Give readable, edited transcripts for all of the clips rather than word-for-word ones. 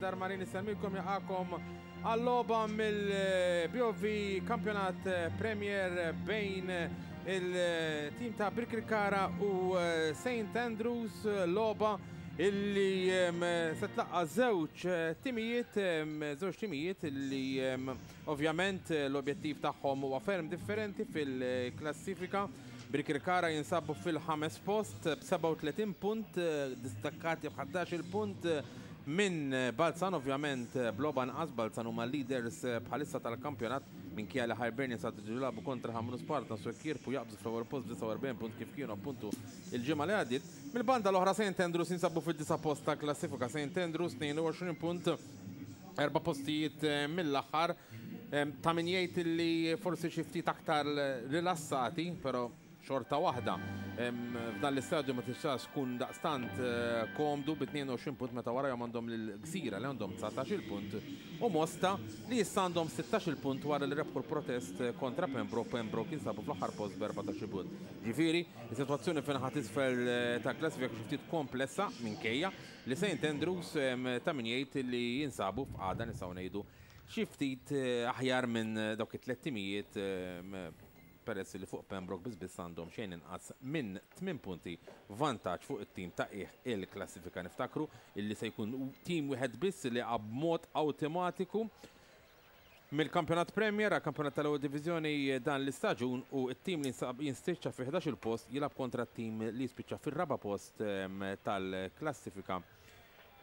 Darmanin isellmilkom jaqakom għall-logħba mill-BOV Kampjonat Premier bejn il-tim ta' Birkirkara u St. Andrews, logħba illi se tlaqqa' żewġ timijiet, żewġ timijiet illi ovvjament l-objettiv tagħhom huwa ferm differenti fil-klassifika. Birkirkara jinsabu fil-ħames post b'37 punt, distakkati b'ħaddax-il punt minn Balzan, ovvjament b'logħba anqas. Balzan huma l-leaders bħalissa tal-kampjonat minkejja li Hibernians għad iridu jilagħbu kontra Ħamrun Spartans u jekk jirbħu jaqbżu fl-ewwel post b'49 punt kif kienu appuntu l-ġimgħa li għaddiet. Mill-banda l-oħra St Andrews jinsabu fid-disa' post tal-klassifika. St Andrews 22 punt, erba' postijiet mill-aħħar. Ta' min jgħid li forsi xi ftit aktar rilassati, però xorta waħda f'dan l-istadju ma tistax tkun daqstant komdu bi 22 punt meta warajhom għandhom lil Gżira li għandhom 19-il punt u Mosta li issa għandhom 16-il punt wara li rebħu l-protest kontra Pembroke. Pembroke jinsabu fl-aħħar post b'14-il punt. Ġifieri, is-sitwazzjoni fin-naħa t'isfel tal-klassifika xi ftit komplessa minkejja li St Andrews ta' min jgħid li jinsabu f'qagħda nistgħu ngħidu xi ftit aħjar minn dawk it-tliet timijiet peress li fuq Pembroke biss biss għandhom xejn inqas minn tmien punti vantaġġ fuq it-tim ta' qiegħ il-klassifika. Niftakru illi se jkun tim wieħed biss li jaqa' b'mod awtomatiku mill-Kampjonat Premier għall-Kampjonat tal-Ewwel Diviżjoni dan l-istaġun u t-tim li jinspiċċa fi 11-il post jilgħab kontra t-tim li jispiċċa fir-raba' post tal-klassifika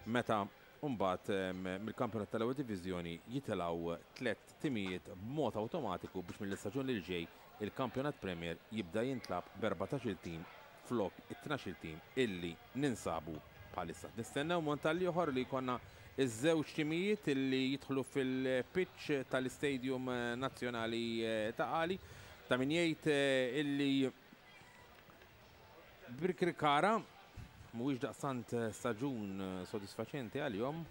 meta mbagħad mill-Kampjonat tal-Ewwel Diviżjoni jitilgħu tlett timijiet b'mod awtomatiku biex mill-istaġun li ġej il-Kampjonat Premier jibda jintlagħab b'14-il tim flok it-tnax-il tim illi ninsabu bħalissa. Nistennew mont għall-ieħor li jkollna ż-żewġ timijiet illi jidħlu fil-pitch tal-Istadium Nazzjonali Ta' Qali. Ta' min jgħid illi Birkirkara mhuwiex daqstant staġun sodisfaċenti għalihom.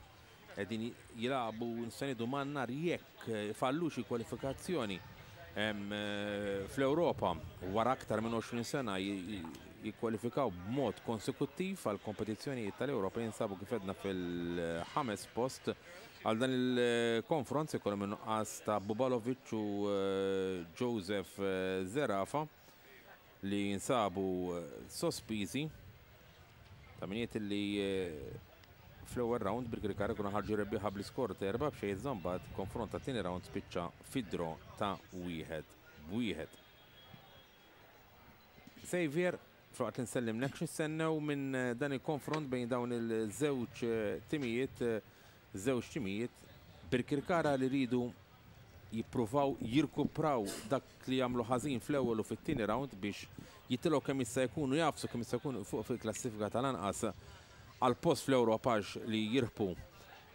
Qegħdin jilagħbu nista' ngħidu man-nar jekk ifallu xi kwalifikazzjoni fl-Ewropa wara aktar minn 20 sena jikkwalifikaw b'mod konsekuttiv għal kompetizzjonijiet tal-Ewropa jinsabu kif għedna fil-ħames post. Għal dan il-konfront se jkollhom in-nuqqas ta' Bubalovic u Joseph Zerafa li jinsabu sospiżi. Ta' min jgħid li fl-ewwel round Birkirkara kienu ħarġu rebbieħa bl-iskor ta' 4-0 iżda mbagħad konfront tat-tieni round spiċċa fi draw ta' 1-1. Xavier, filwaqt li nsellimlek, x'nistennew minn dan il-konfront bejn dawn il-żewġ timijiet, żewġ timijiet Birkirkara li rridu jippruvaw jirkupraw dak li għamlu ħażin fl-ewwel u fit-tieni round biex jitilgħu kemm jista' jkun u jagħfsu kemm jista' jkun fuq fil-klassifika tal-anqas għal post fl-Ewropa għax li jirbħu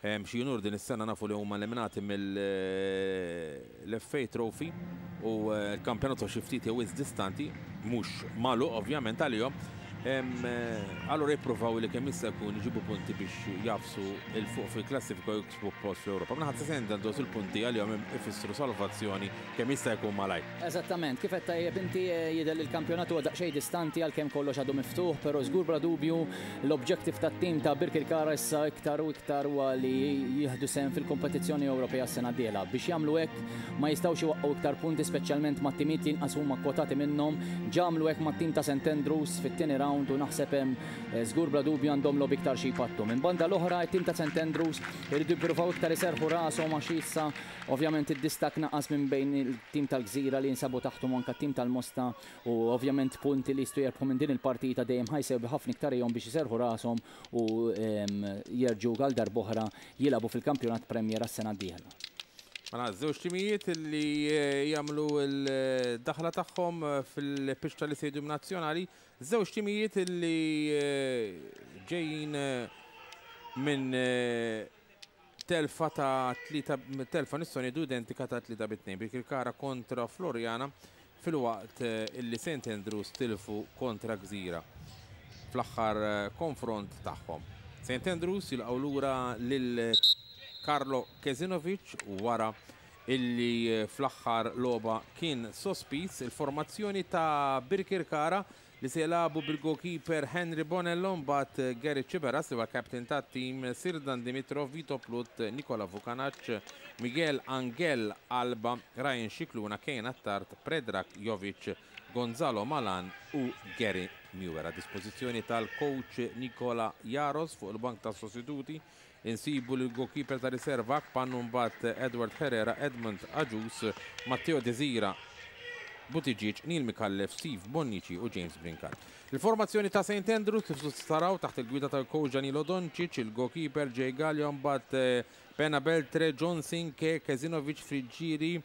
xi unur din is-sena nafu li huma eliminati mill-FA Trophy u l-kampjonat huwa xi ftit jew wisq distanti, mhux magħluq ovvjament għalihom. Allura jippruvaw li kemm jista' jkun iġibu punti biex jagħfsu 'l fuq fil-klassifika u jiksbu post fl-Ewropa. Min-naħa ta' St Andrews il-punti għalihom ifissru salvazzjoni kemm jista' jkun malajr. Eżattament, kif għedt tajjeb inti, jidher li l-kampjonat huwa daqsxejn distanti għalkemm kollox għadu miftuħ, però żgur bla dubju l-objective tat-tim ta' Birkirkara issa iktar u iktar huwa li jieħdu sehem fil-kompetizzjoni Ewropea s-sena d-dieħla. Biex jagħmlu hekk ma jistgħux iwaqqgħu iktar punti speċjalment ma' timijiet li inqas huma kkwotati minnhom. Ġa għamlu hekk mat-tim ta' St Andrews fit-tieni round u naħseb hemm żgur bla dubju għandhom logħob iktar xi jpattu. Minn banda l-oħra it-tim ta' St Andrews iridu jippruvaw iktar iserrħu rashom għax issa Ovvjament id-distakk naqas minn bejn il-tim tal-Gżira li jinsabu taħthom u anke t-tim tal-Mosta u ovvjament punti li jistgħu jerbħu minn din il-partita dejjem ħa jsewwi ħafna iktar għihom biex iserrħu rashom u jerġgħu għal darb'oħra jilagħbu fil-Kampjonat Premier għas-sena d-dieħla. Mela żewġ timijiet li jagħmlu l-daħla tagħhom fil-pitch tal-Istadium Nazzjonali, żewġ timijiet li ġejjin minn Telfa ta' tlieta telfa nistgħu ngħidu identika ta' 3-2 Birkirkara kontra Floriana filwaqt illi St Andrews tilfu kontra Gżira fl-aħħar konfront tagħhom. St Andrews jilqgħu lura lil Karlo Kezinovic wara illi fl-aħħar logħba kien sospiż. Il-formazzjoni ta' Birkirkara li se jilagħbu bil-goalkeeper Henry Bonello, mbagħad Gary Ciberas li huwa captain tat-tim, Sirdan Dimitrov, Vito Plut, Nikola Vukanac, Miguel Angel Alba, Ryan Scicluna, Kane Attard, Predrag Jovic, Gonzalo Malan u Gary Muir. A dispożizzjoni tal-coach Nikola Jaros fuq il-bank tas-sostituti insibu lil goalkeeper ta' riserva Akpan u mbagħad Edward Herrera, Edmund Agius, Matteo Desira, Buttigieg, Neil Micallef, Steve Bonnici u James Brincat. Il-formazzjoni ta' St Andrews kif taraw taħt il-gwida tal-coach Danilo Doncic, il-goalkeeper Jay Gallia, mbagħad Pena Beltre, John Sinke, Kezinovic Friggieri,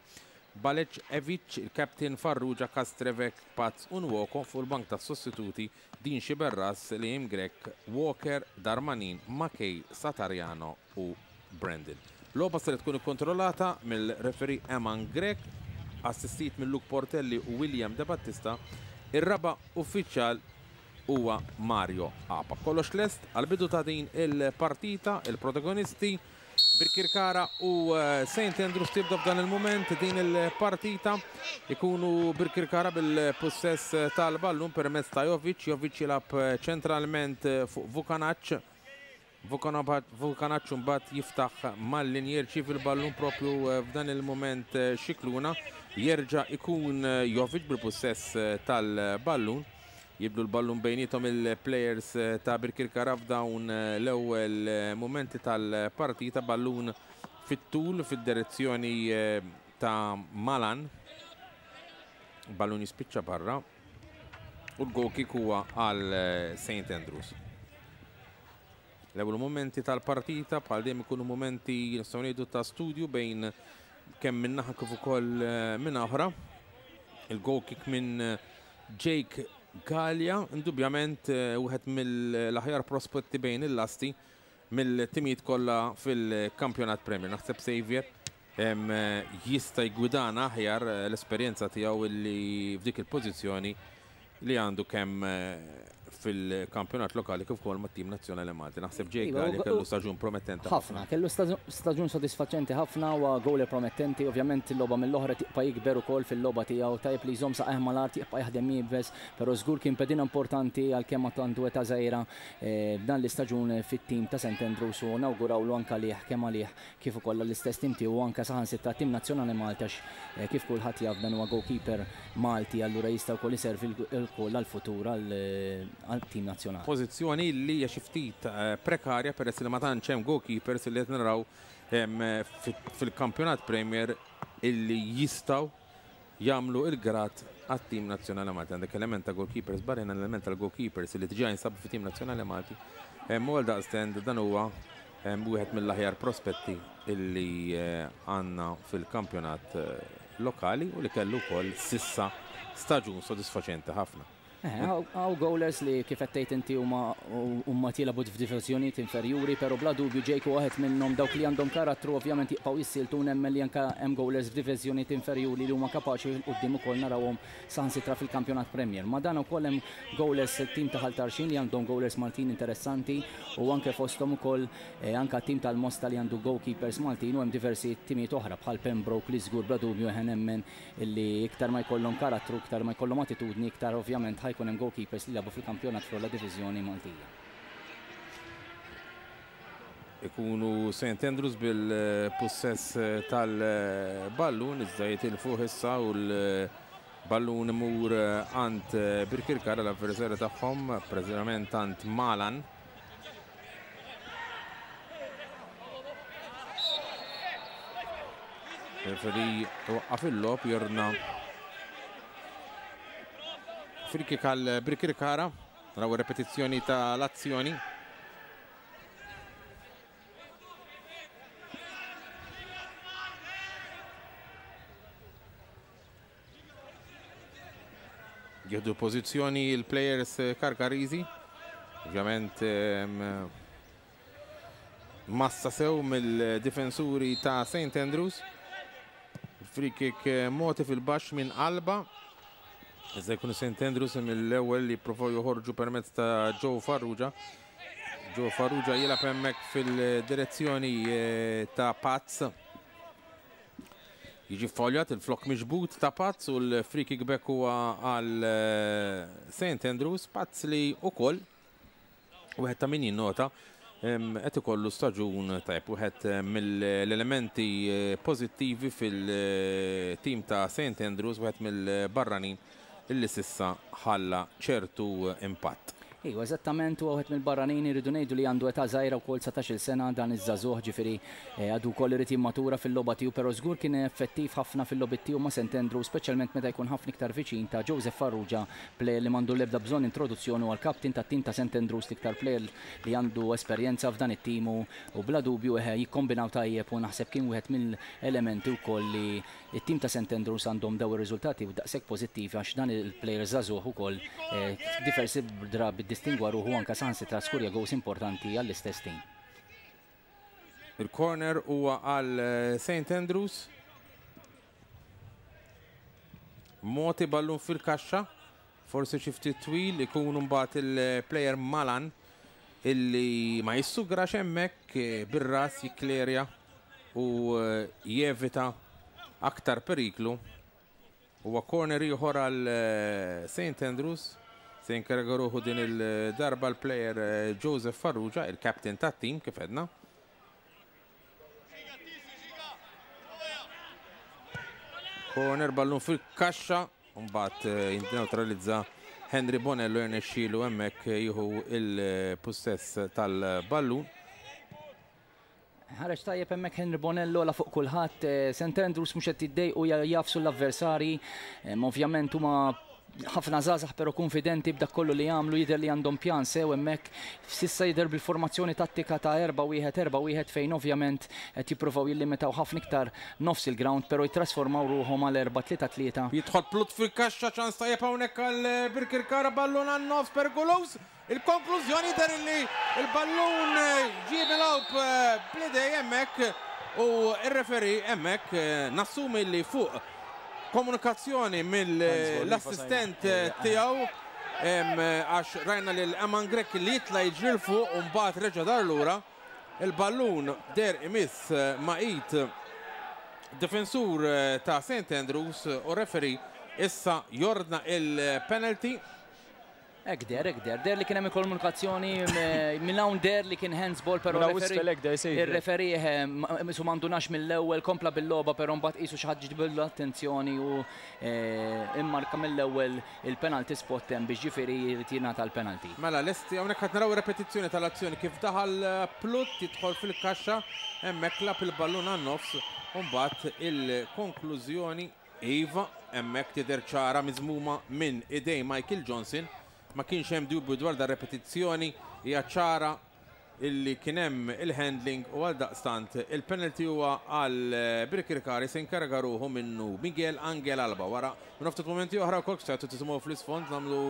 Balec Evic, il-captain Farrugia, Kastrevek, Paz u Nwoko fuq il-bank tas-sostituti Dean Sciberras, Liam Grech, Walker, Darmanin, Makej, Satariano u Brandon. Logħba ser tkun ikkontrollata mill-referee Eman Grech, assistit minn Luke Portelli u William De Battista. Ir-raba' uffiċjal huwa Mario Apa. Kollox lest għall-bidu ta' din il-partita, il-protagonisti Birkirkara u St Andrews tibda f'dan il-mument din il-partita. Ikunu Birkirkara bil-pussess tal-ballun permezz ta' Jovic. Jovic jilgħab ċentralment fuq Vukanac. Vukanac mbagħad jiftaħ mal-linja, jirċievi l-ballun propju f'dan il-mument Scicluna. Jerġa' ikun Jovic bil-pussess tal-ballun. Jibdlu l-ballun bejniethom il-players ta' Birkirkara f'dawn l-ewwel mumenti tal-partita. Ballun fit-tul fid-direzzjoni ta' Malan. Ballun jispiċċa barra u l-goal kick huwa għal St Andrews. L-ewwel mumenti tal-partita bħal dejjem ikunu mumenti nistgħu ngħidu ta' studju bejn kemm minn naħa kif ukoll minn oħra. Il-goal kick minn Jake Gallia, indubjament wieħed mill-aħjar prospetti bejn il-lasti mill-timijiet kollha fil-Kampjonat Premier. Naħseb Xavier jista' jgwidana aħjar l-esperjenza tiegħu li f'dik il-pożizzjoni li għandu kemm fil-kampjonat lokali kif ukoll mat-tim nazzjonali Malti. Naħseb Jake Gallia kellu staġun promettenti ħafna. Kellu staġun sodisfaċenti ħafna u goaler promettenti, ovvjament il-logħba mill-oħra tibqa' jikber ukoll fil-logħba tiegħu, tajjeb li jżomm saqajh mal-art, jibqa' jaħdem iebes, però żgur kien pedina importanti għalkemm għad għandu età żgħira f'dan l-istaġun fit-tim ta' St Andrews u nawgurawlu anke għalih kemm għalih kif ukoll għall-istess tim tiegħu u anke saħansitra għat-tim nazzjonali Malti għax kif kulħadd jaf dan huwa goalkeeper Malti allura jista' wkoll iservi wkoll għall-futur għall-tim nazzjonali. Pożizzjoni li hija xi ftit prekarja peress li ma tantx hemm goalkeepers li qed naraw fil-Kampjonat Premier illi jistgħu jagħmlu l-grad għat-tim nazzjonali Malti. Għandek element ta' goalkeepers barranin, element tal-goalkeepers li diġà jinsabu fit-tim nazzjonali Malti. U għaldaqstant dan huwa wieħed mill-aħjar prospetti illi għandna fil-kampjonat lokali u li kellu wkoll sissa staġun sodisfaċenti ħafna. Hawn goalers li kif qed tgħid inti huma huma jilagħbu f'diviżjonijiet inferjuri, però bla dubju Jake huwa waħed minnhom dawk li għandhom karattru ovvjament jibqgħu jissieltu u nemmen li anke hemm goalers f'diviżjonijiet inferjuri li huma kapaċi 'l quddiem ukoll narawhom saħansitra fil-Kampjonat Premier. Ma' dan ukoll hemm goalers tim ta' Ħal Tarxien li għandhom goalers Maltin interessanti u anke fosthom ukoll anke t-tim tal-Mosta li għandu goalkeepers Maltin u hemm diversi timijiet oħra bħal Pembroke li żgur bla dubju eħe nemmen Illi iktar ma jkollhom karattru, iktar ma jkollhom attitudni, iktar ovvjament ħa jkun hemm goalkeepers li jilagħbu fil-kampjonat fl-ogħla diviżjoni Maltija. Ikunu St Andrews bil-pussess tal-ballun, iżda jitilfuh issa u l-ballun imur għand Birkirkara l-avversarju tagħhom, preżentament għand Malan. Referee waqqaf il-logħob jordna free kick għal Birkirkara. Naraw repetizzjoni tal-azzjoni. Jieħdu pożizzjoni il-players Karkariżi. Ovvjament massa sew mill-difensuri ta' St. Andrews. Free kick moti fil-baxx minn Alba. Iżda jkunu St. Andrews mill-ewwel li jippruvaw joħorġu permezz ta' Joe Farrugia. Joe Farrugia jilgħab hemmhekk fil-direzzjoni ta' Paz. Jiġi ffawljat il-flokk miġbud ta' Pazz u l-free kick b'hekk huwa għal St Andrews. Pazz li wkoll wieħed ta' min jinnota qed ikollu staġun tajjeb. Wieħed mill-elementi pożittivi fil-tim ta' St Andrews, wieħed mill-barranin illi s'issa ħalla ċertu impatt. Iva, eżattament, huwa wieħed mill-barranin, irridu ngħidu li għandu età żgħira wkoll 19-il sena dan iż-żagħżugħ, ġifieri għadu wkoll irid jimmatura fil-logħba tiegħu, però żgur kien effettiv ħafna fil-logħbiet tiegħu ma' St Andrews, speċjalment meta jkun ħafna iktar viċin ta' Joseph Farrugia, plejer li m'għandu l-ebda bżonn introduzzjoni, huwa l-captain tat-tim ta' St Andrews, l-iktar plejer li għandu esperjenza f'dan it-tim u bla dubju jikkombinaw tajjeb u naħseb kien wieħed mill-elementi wkoll li It-tim ta' St Andrews għandhom dawn ir-riżultati daqshekk pożittivi għax dan il-plejer żagħżugħ ukoll diversi drabi ddistingwa ruħu anke saħansitra skurja gowls importanti għall-istess tim. Il-corner huwa għal St Andrews. Moti ballun fil-kaxxa, forsi xi ftit twil ikun mbagħad il-plejer Malan illi ma jissugrax hemmhekk bir-ras jikklerja u jevita aktar periklu. Huwa corner ieħor għal St Andrews. Se jinkariga ruħu din il-darba l-plejer Joseph Farrugia, il-captain tat-tim kif għedna. Corner ballun fil-kaxxa, mbagħad jinneutralizza Henry Bonello jirnexxielu hemmhekk jieħu il-pussess tal-ballun. Ħareġ tajjeb hemmhekk Henry Bonello la fuq kulħadd. St Andrews mhux qed jiddejqu jafsu l-avversarji. Ovvjament huma ħafna żgħażagħ però kunfidenti b'dak kollu li jagħmlu, jidher li għandhom pjan sew hemmhekk. S'issa jidher bil-formazzjoni tattika ta' 4-1-4-1 fejn ovvjament qed jippruvaw jillimitaw ħafna iktar nofs il-ground però jittrasformaw ruħhom għal 4-3-3. Jidħol Plut fil-kaxxa, ċans tajjeb hawnhekk għal Birkirkara, ballun għan-nofs perikoluż. Il-konklużjoni jidher illi l-ballun ġie milgħub bl-idej hemmhekk u r-referee hemmhekk nassumi li fuq komunikazzjoni mill-assistent tiegħu għax rajna lil Eman Grech li jitla' jiġri 'l fuq u mbagħad reġa' dar lura. Il-ballun deher imiss ma' id difensur ta' St Andrews u r-referee issa jordna il-penalty. Hekk deher, hekk deher. Deher li kien hemm il-komunikazzjoni minn hawn deher li kien handsball però ir-referee qisu ma ndunax mill-ewwel, kompla bil-logħba però mbagħad qisu xi ħadd ġibidlu l-attenzjoni u immarka mill-ewwel il-penalty spot hemm biex ġifieri jrid jingħata l-penalty. Mela lesti hawnhekk qed naraw ir-repetizzjoni tal-azzjoni kif daħal Plutt jidħol fil-kaxxa hemmhekk lagħab il-ballun għan-nofs u mbagħad il-konklużjoni Iva, hemmhekk tidher ċara miżmuma minn idejn Michael Johnson. Ma kienx hemm dubju dwar dan repetizzjoni hija ċara illi kien hemm il-handling u għaldaqstant il-penalty huwa għal Birkirkari se jinkariga ruħu minnu Miguel Angel Alba. Wara minn ftit mumenti oħra wkoll kif stajtu tisimgħu fl-isfond nagħmlu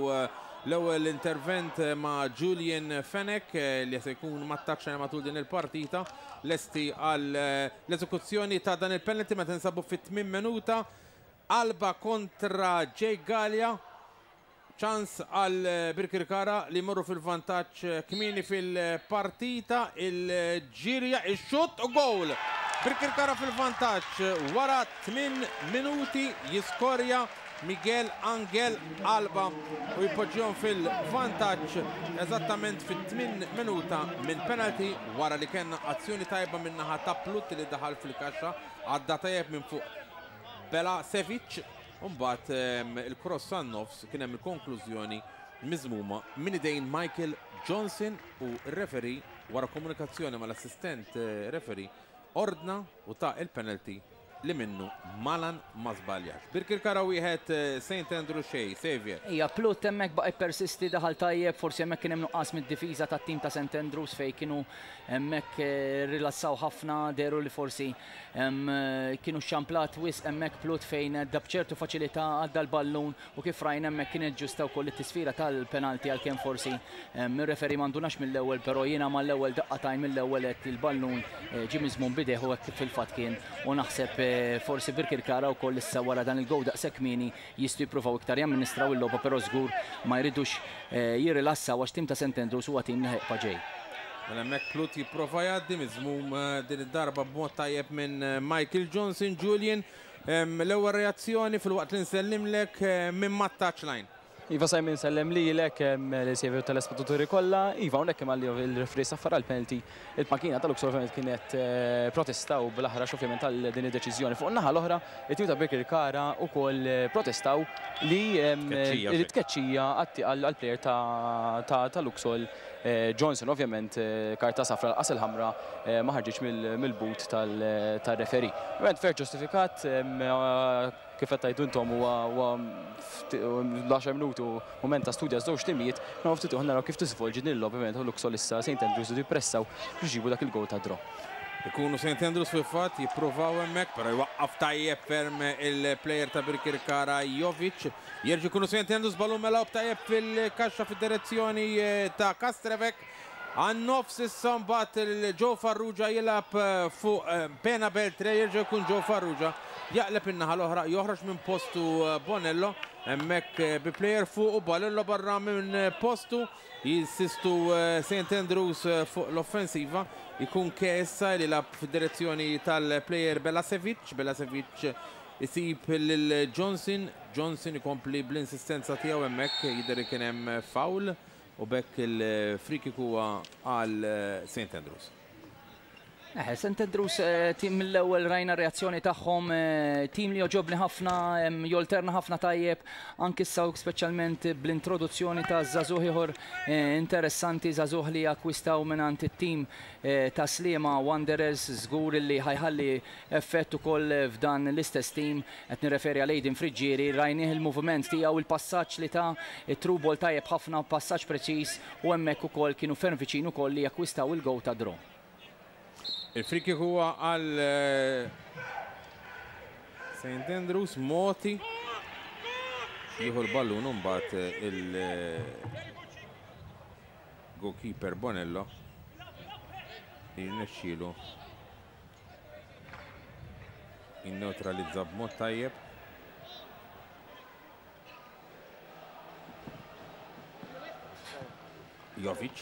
l-ewwel intervent ma' Julian Fenech li se jkun mat-touchline matul din il-partita lesti għal L-eżekuzzjoni ta' dan il-penalty meta ninsabu fit-tmien minuta. Alba kontra Jake Galea. Ċans għal Birkirkara li jmorru fil-vantaġġ kmieni fil-partita. Il-ġirja, ix-xutt u goal! Birkirkara fil-vantaġġ wara 8 minuti jiskorja Miguel Angel Alba u jpoġġihom fil-vantaġġ eżattament fit-tmien minuta minn penalty wara li kellna azzjoni tajba min-naħa ta' Plut li daħal fil-kaxxa, għadda tajjeb minn fuq Bela Sevic u mbagħad il-cross għan-nofs kien hemm il-konklużjoni miżmuma minn idejn Michael Johnson u r-referee wara komunikazzjoni mal-assistent referee ordna u ta il-penalty li minnu Malan ma żbaljax. Birkirkara wieħed, Saint Andrew xejn. Saviour. Ija, Plut hemmhekk baqa' jippersisti, daħal tajjeb, forsi hemmhekk kien hemm nuqqas mid-difiża tat-tim ta' Saint Andrews fejn kienu hemmhekk rilassaw ħafna, dehru li forsi kienu xxamplat wisq hemmhekk Plut fejn għadda b'ċertu faċilità għadda l-ballun U kif rajna hemmhekk kienet ġusta wkoll it-tisfira tal-penalty għalkemm forsi ir-referee ma ndunax mill-ewwel però jiena mal-ewwel daqqa t'għajn mill-ewwel għedt li l-ballun ġie miżmum b'idejh u hekk fil-fatt kien u naħseb forsi Birkirkara wkoll issa wara dan il-gowl daqshekk kmieni jistgħu jippruvaw iktar jamministraw il-logħba però żgur ma jridux jirrilassaw għax tim ta' St Andrews huwa tim li ħa jibqa' ġej. Mela hemmhekk Plut jipprova jgħaddi miżmum din id-darba b'mod tajjeb minn Michael Johnson Julian. L-ewwel reazzjoni filwaqt li nsellimlek minn mat-touchline. Iva Simon, insellem lilek, lil Sievi u telespettaturi kollha. Iva, hawnhekk imma li il-referee saffar għal penalty, il-pankina tal-Luxol ovvjament kienet protestaw bl-aħrax ovvjament għal din id-deċiżjoni. Fuq in-naħa l-oħra, it-tim ta' Birkirkara wkoll protestaw li tkeċċija għall-player ta' Luxol Johnson. Ovvjament karta safra l-qas il-ħamra ma ħarġitx mill-but tal-referee. Ovvjament fair ġustifikat, kif qed tgħidu intom huwa l-10 minuti mument ta' studja żewġ timijiet, naraw ftit naraw kif tiżvolġi din il-logħba. Ovvjament Luxol issa St. Andrews jippressaw biex iġibu dak il-goal ta' draw. Ikunu St. Andrews fil-fatt jippruvaw hemmhekk, però jwaqqaf tajjeb ferm il-player ta' Birkirkara Jovic. Jerġgħu jkunu St. Andrews, ballun melgħub tajjeb fil-kaxxa fid-direzzjoni ta' Kastrevek. Għan-nofs issa mbagħad il-Joe Farrugia jilgħab fuq Pena Beltre, jerġa' jkun Joe Farrugia jaqleb in-naħa l-oħra, joħroġ minn postu Bonello, hemmhekk bi player fuq u Bonello barra minn postu, jinsistu St. Andrews fuq l-offensiva, jkun issa li lagħab fid-direzzjoni tal-player Belasevic, Belasevic isib lil Johnson, Johnson ikompli bl-insistenza tiegħu hemmhekk, jidher li kien hemm foul u b'hekk il-free kick huwa għal St. Andrews. St. Andrews tim mill-ewwel rajna reazzjoni tagħhom, tim li joġobni ħafna, jolterna ħafna tajjeb, anki issa speċjalment bl-introduzzjoni ta' żagħżugħ ieħor interessanti, żagħżugħ li akkwistaw mingħand it-tim ta' Sliema Wanderers, żgur li ħa jħalli effett ukoll f'dan l-istess tim, qed nirreferi għal Aiden Friggieri, rajnieh il-moviment tiegħu, il-passaġġ li ta' it-through ball tajjeb ħafna, passaġġ preċiż, u hemmhekk ukoll kienu ferm viċin ukoll li jakkwistaw il-goal ta' draw. Il-free kick huwa għal St. Andrews, Moti jieħu l-ballun u mbagħad il-goalkeeper Bonello jirnexxielu jinneutralizza b'mod tajjeb. Jovic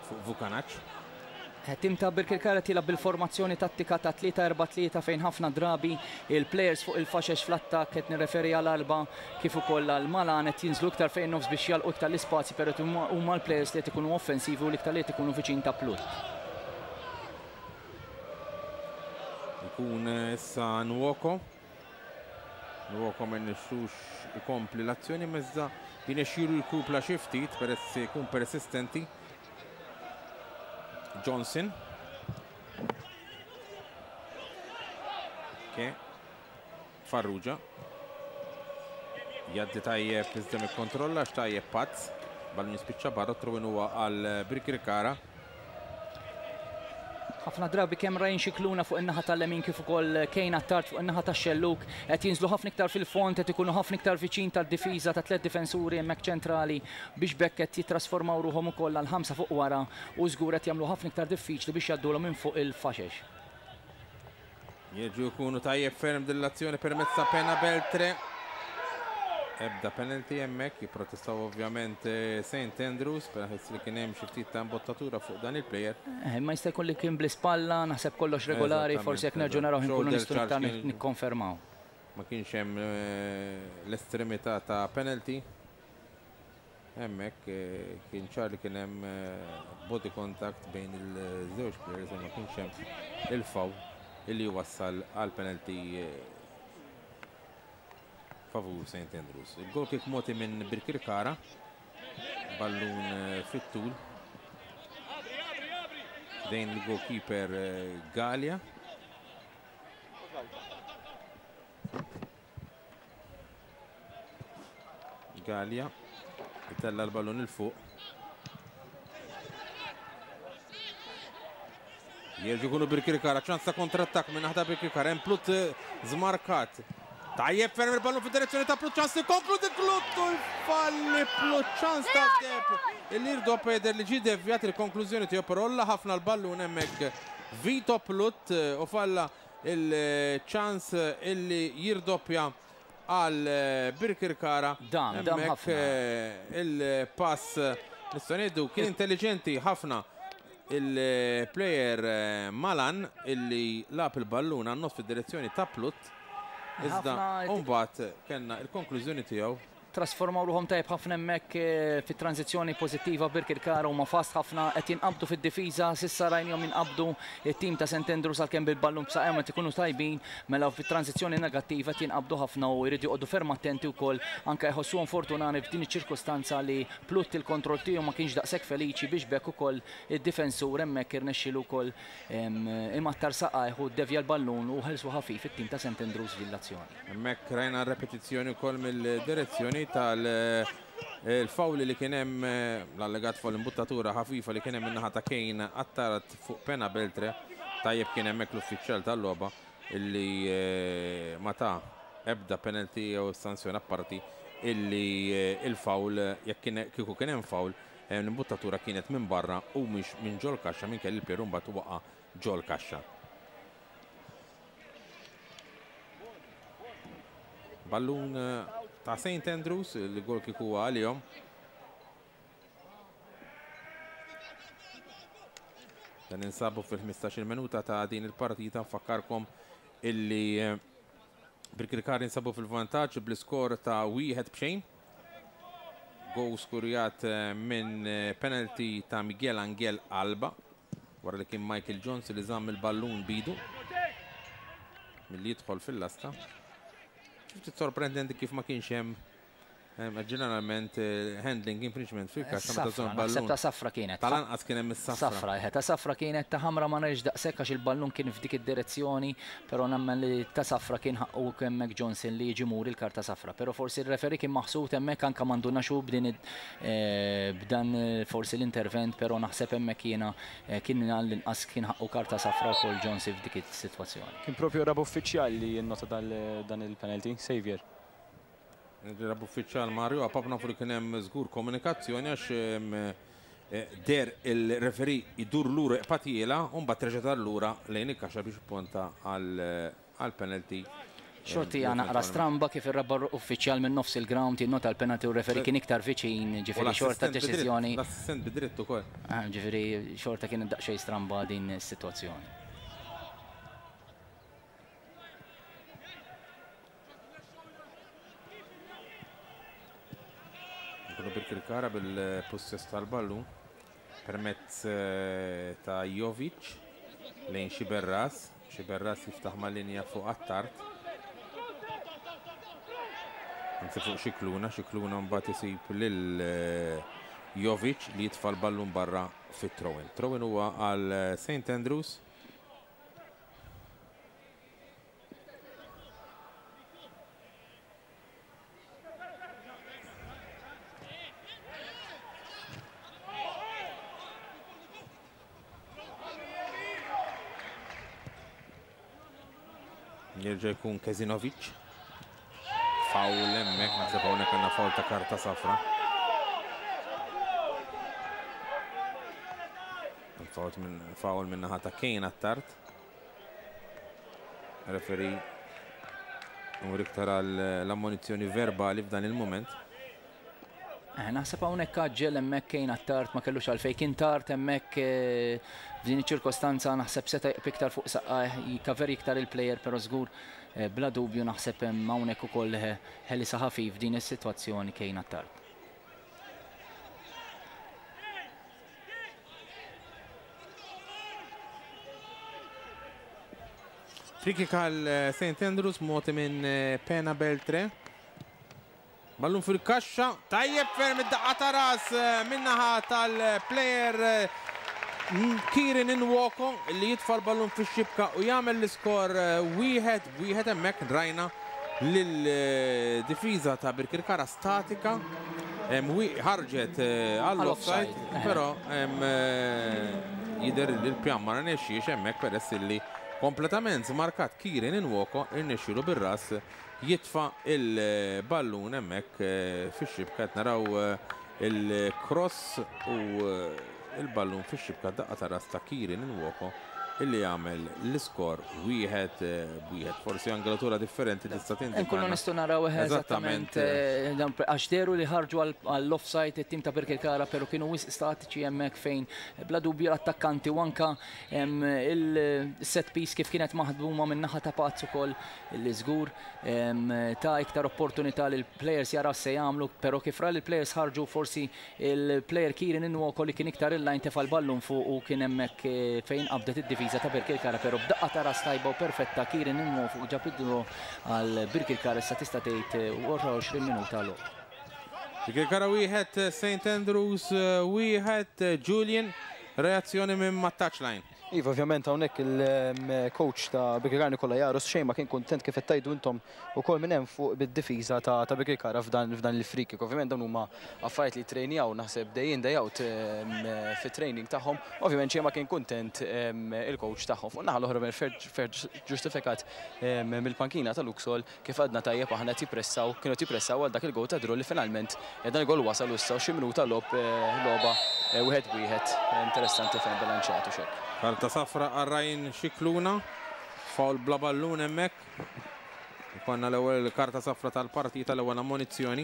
fuq Vukanac. Tim ta' Birkirkara tilgħab bil-formazzjoni tattika ta' 3-4-3 fejn ħafna drabi il-players fuq il-faxex fl-attakk, qed nirreferi għal Alba kif ukoll għal Malan, qed jinżlu iktar fejn nofs biex jalqu iktar l-ispazji, però huma l-players li qed ikunu offensivi u l-iktar li qed ikunu viċin ta' Plut. Ikun issa Nwoko. Nwoko ma nixxux ikompli l-azzjoni mezza jinexxielu jkupla xi ftit peress jkun persistenti. Johnson. Ke Farrugia. Jaddi tajjeb iżda mikkontrolla x'tajjeb Pazz. Ballun jispiċċa barra, throw-in huwa għal Birkirkara. Ħafna drabi kemm Ryan Xikluna fuq in-naħa tal-lemin kif ukoll Kane Attard fuq in-naħa tax-xelluk qed jinżlu ħafna iktar fil-fond, qed ikunu ħafna iktar viċin tad-difiża ta' tliet difensuri hemmhekk ċentrali biex b'hekk qed jittrasformaw ruħhom ukoll għal 5 fuq wara u żgur qed jagħmlu ħafna iktar diffiċli biex jgħaddulhom minn fuq il-faxex. Jerġgħu jkunu tajjeb ferm din l-azzjoni permezz ta' Pena Beltre. Ebda penalty hemmhekk, jipprotestaw ovvjament St. Andrews, peress li kien hemm xi ftit ta' imbottatura fuq dan il-player. Ma jista' jkun li kien bl-ispalla, naħseb kollox regolari, forsi jekk nerġgħu naraw inkunu Shoulder nistgħu charge iktar nikkonfermaw. Ma kienx hemm l-estremità ta' penalty. Hemmhekk kien ċar li kien hemm body contact bejn il-żewġ players, ma kienx hemm il-foul illi wassal għal penalty favur St. Andrews. Il-goal kick moti minn Birkirkara, ballun fit-tul dejn il-goalkeeper Galea. Galea itella l-ballun il fuq. Jerġgħu jkunu Birkirkara, ċans ta' kontrattak minn naħta Birkirkara, hemm Plut żmarkat. Tajjeb ferm il-ballun fid-direzzjoni ta' Plut, ċans li konkludi Plut u jfalli Plut, ċans ta' deb. Il-irdo Peder li ġie devjat il-konklużjoni tiegħu, però olla ħafna l-ballun hemmhekk Vito Plut u falla il-ċans illi jirdoppja għal Birkirkara. Dam, dam Hemmhekk, ħafna. il-pass nistgħu ngħidu kien intelligenti ħafna il-player Malan illi lagħab il-ballun għan-nofs fid-direzzjoni ta' Plut. Iżda mbagħad kellna il-konklużjoni tiegħu. Trasformaw ruħhom tajjeb ħafna hemmhekk fit-tranżizzjoni pożittiva Birkirkara huma fast ħafna qed jinqabdu fid-difiża s'issa rajnihom jinqabdu it-tim ta' St Andrews għalkemm bil-ballun b'saqajhom qed ikunu tajbin mela fit-tranżizzjoni negattiva qed jinqabdu ħafna u jridu joqogħdu ferm attenti wkoll anke jħossuhom fortunani f'din iċ-ċirkustanza li Plutt il-kontroll tiegħu ma kienx daqshekk feliċi biex b'hekk ukoll id-difensur hemmhekk irnexxielu wkoll imattar saqajh u ddevja l-ballun u ħelsu ħafif it-tim ta' St Andrews f'din l-azzjoni. Hemmhekk rajna r-repetizzjoni wkoll mill-direzzjoni tal-foul li kien hemm, l-allegat foul imbuttatura ħafifa li kien hemm min-naħa ta' Kane Attard fuq Pena Beltre. Tajjeb kien hemmhekk l-uffiċjal tal-logħba illi ma ta ebda penalty jew sanzjoni apparti illi il-foul jekk kien kieku kien hemm foul l-imbuttatura kienet minn barra u mhix minn ġol-kaxxa minkejja li l-plejer imbagħad waqa' ġol-kaxxa. Ballun ta' St Andrews, il-gol kieku huwa għalihom. Dan ninsabu fil-15 minuta ta' din il-partita nfakkarkom illi Birkirkara jinsabu fil-vantaġġ bl-iskor ta' 1-0. Goal skurjat minn penalty ta' Miguel Angel Alba wara li kien Michael Jones li żamm il-ballun bidu milli jidħol fil-lasta. Ftit sorprendenti kif ma kienx hemm Ġeneralment handling infringement fil-kaxxa meta żomm ballun. Ta' safra kienet. Tal-anqas kien hemm is-safra. Safra, eħe, ta' safra kienet, ta' ħamra ma narax daqshekk għax il-ballun kien f'dik id-direzzjoni, però nemmen li ta' safra kien ħaqqu hemmhekk Johnson li jiġi muri l-karta safra. Però forsi r-referee kien maħsud hemmhekk anke ma ndunax hu b'din b'dan forsi l-intervent, però naħseb hemmhekk jiena kien għall-inqas kien ħaqqu karta safra wkoll Johnson f'dik is-sitwazzjoni. Kien propju r-raba' uffiċjal li nnota dan il-penalty, Xavier. Rab uffiċjal Mario Apap nafu li kien hemm żgur komunikazzjoni għax deher il-referee jdur lura iqpatjiela u mbagħad reġa' dar lura lejn il-kaxxa biex ipponta għall-penalty. Xorti hija naqra stramba kif ir-raba' uffiċjal minn nofs il-ground jinnota l-penalty u r-referee kien iktar viċin, ġifieri xorta deċiżjoni. L-assistent bi dritt ukoll. Ġifieri xorta kienet daqsxejn stramba din is-sitwazzjoni. Nkunu Birkirkara bil-pussess tal-ballun permezz ta' Jovic lejn Xiberras. Xiberras jiftaħ ma' linja fuq Attard. Anzi fuq Xikluna, Xikluna mbagħad isib lil Jovic li jitfa' l-ballun barra fit-throw-in. Throw-in huwa għal St Andrews. Jerġa' jkun Kezinovic. Foul hemmhekk, naħseb hawnhekk għandna foul ta' karta safra. Foul minn naħa ta' Kane Attard. Referee imur iktar għal l-ammonizzjoni verbali f'dan il-moment. Naħseb hawnhekk għaġġel hemmhekk Kane Attard ma kellux għalfejn kien tard hemmhekk f'din iċ-ċirkostanza naħseb seta' jqib iktar fuq saqajh jikaveri iktar il-plejer però żgur bla dubju naħseb hemm hawnhekk ukoll ħelisa ħafif f'din is-sitwazzjoni Kane Attard. Free kick għal St. Andrews mogħti minn Pena Beltre. Ballun fil-kaxxa, tajjeb ferm id-daqqa ta' ras min-naħa tal-plejer Kieran Nwoko li jitfa' l-ballun fix-xibka u jagħmel l-iskor 1-1 hemmhekk rajna lil-difiża ta' Birkirkara statika ħarġet għall-offside, però jidher li l-pjan ma rnexxiex hemmhekk peress illi kompletament żmarkat Kieran Nwoko irnexxielu bir-ras jitfa' il-ballun hemmhekk fix-xibka. Qed naraw il-cross u il-ballun fix-xibka, daqqa ta' ras ta' Kieran Nwoko. Illi jagħmel l-iskor 1-1. Forsi angolatura differenti tista' tindika. Nkunu nistgħu naraw eżattament għax dehru li ħarġu għall-offside it-tim ta' Birkirkara, però kienu wisq statiċi hemmhekk fejn bla dubju l-attakkanti u anka il-set piece kif kienet maħduma minn naħa ta' Pazz ukoll li żgur ta' iktar opportunità li l-players jaraw se jagħmlu, però kif ra li l-players ħarġu, forsi il-player Kieran Nwoko li kien iktar il-line tefa' l-ballun fuq u kien hemmhekk fejn qabdet id-difiża ta' Birkirkara, però b'daqqa ta' ras tajba u perfetta Kieran Nwoko ġab id-draw għal Birkirkara, issa tista' tgħid 20 minuta logħob. Birkirkara 1, St. Andrews 1, Julian, reazzjoni minn ma' touchline. Iva, ovvjament hawnhekk il-coach ta' Birkirkara Nikola Jarus xejn ma kien kuntent, kif qed tgħidu intom ukoll minn hemm fuq, bid-difiża ta' Birkirkara f'dan il-free kick. Ovvjament dawn huma affarijiet li trejnjaw naħseb day in, day out fit-training tagħhom. Ovvjament xejn ma kien kuntent il-coach tagħhom. Fuq naħa l-oħra ferm ġustifikat mill-pankina ta' Luxol, kif għadna tajjeb aħna, jippressaw, kienu jippressaw għal dak il-gol ta' draw li finalment dan il-gol wasal issa xi minuta logħob, logħba 1-1 interessanti fejn bilanċjatu xek. Karta safra għal Ryan Xikluna, foul bla ballun hemmhekk. Konna l-ewwel karta safra tal-partita, l-ewwel ammonizzjoni.